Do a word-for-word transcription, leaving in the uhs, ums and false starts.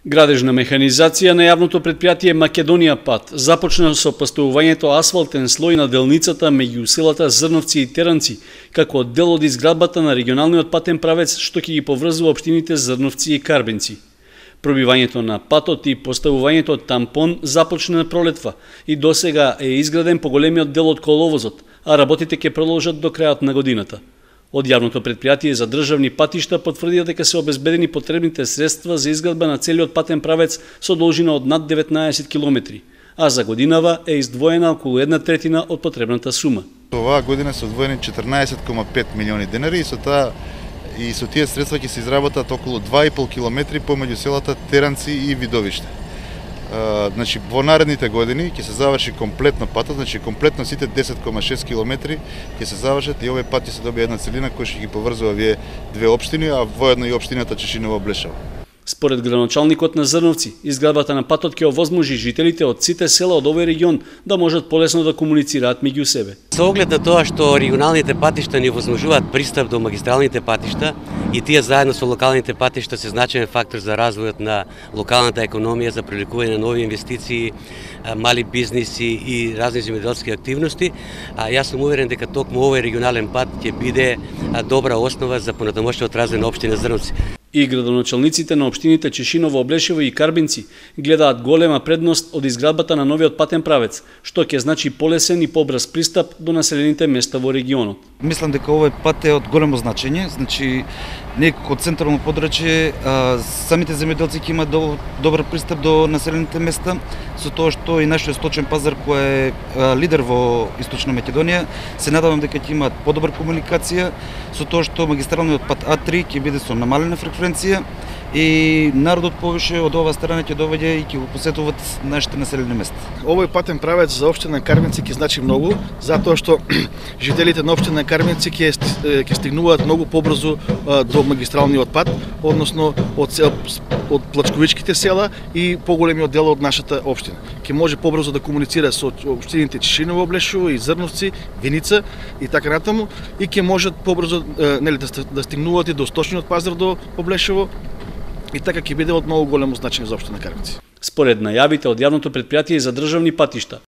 Градежна механизација на јавното предпријатие Македонија пат започна со поставувањето асфалтен слој на делницата меѓу селата Зрновци и Теранци, како дел од изградбата на регионалниот патен правец што ќе ги поврзува општините Зрновци и Карбенци. Пробивањето на патот и поставувањето тампон започна на пролетва и досега е изграден поголемиот дел од коловозот, а работите ќе продолжат до крајот на годината. Од јавното предпријатие за државни патишта потврдија дека се обезбедени потребните средства за изградба на целиот патен правец со должина од над деветнаесет километри, а за годинава е издвоена околу една третина од потребната сума. Оваа година се одвоени четрнаесет кома пет милиони денари и со таа и со тие средства ќе се изработат околу два и пол километри помеѓу селата Теранци и Видовиште. Uh, значи, во наредните години ќе се заврши комплетно патот, значи комплетно сите десет кома шест километри ќе се завршат и овој пат ќе се добие една целина која ќе ги поврзува овие две општини, а воедно и општината Чешиново Блешево. Според градоначалникот на Зрновци, изградбата на патот ќе овозможи жителите од сите села од овој регион да можат полесно да комуницираат меѓу себе. Со оглед на тоа што регионалните патишта ни овозможуваат пристап до магистралните патишта и тие заедно со локалните патишта се значаен фактор за развојот на локалната економија, за привлекување на нови инвестиции, мали бизниси и разни земјоделски активности, а јас сум уверен дека токму овој регионален пат ќе биде добра основа за понатамошниот развој на општина Зрновци. И градоначалниците на општините Чешиново, Блешево и Карбенци гледаат голема предност од изградбата на новиот патен правец, што ќе значи полесен и побрз пристап до населените места во регионот. Мислам дека овој пат е од големо значење, значи некако од централно подрачје, самите земјоделци ќе имаат добар пристап до населените места, со тоа што и нашиот сточен пазар кој е лидер во Источна Македонија, се надевам дека ќе имаат подобра комуникација, со тоа што магистралниот пат А три ќе биде со намалена фреквенција и народот повише од оваа страна ќе доаѓа и ќе го посетуваат нашите населени места. Овој патен правец за општина Карбенци ќе значи многу, затоа што жителите на општина Карбенци ќе ќе стигнуваат многу побрзо до магистралниот пат, односно од од плачковичките села и поголемиот дел од нашата општина. Ќе може побрзо да комуницира со општините Чешиново, Блешево и Зрновци, Виница и така натаму и ќе можат побрзо нели да стигнуваат и до сточниот пазар до Блешево. И така ќе биде од многу големо значење за општина Карбенци. Според најавите од јавното предпријатие за државни патишта,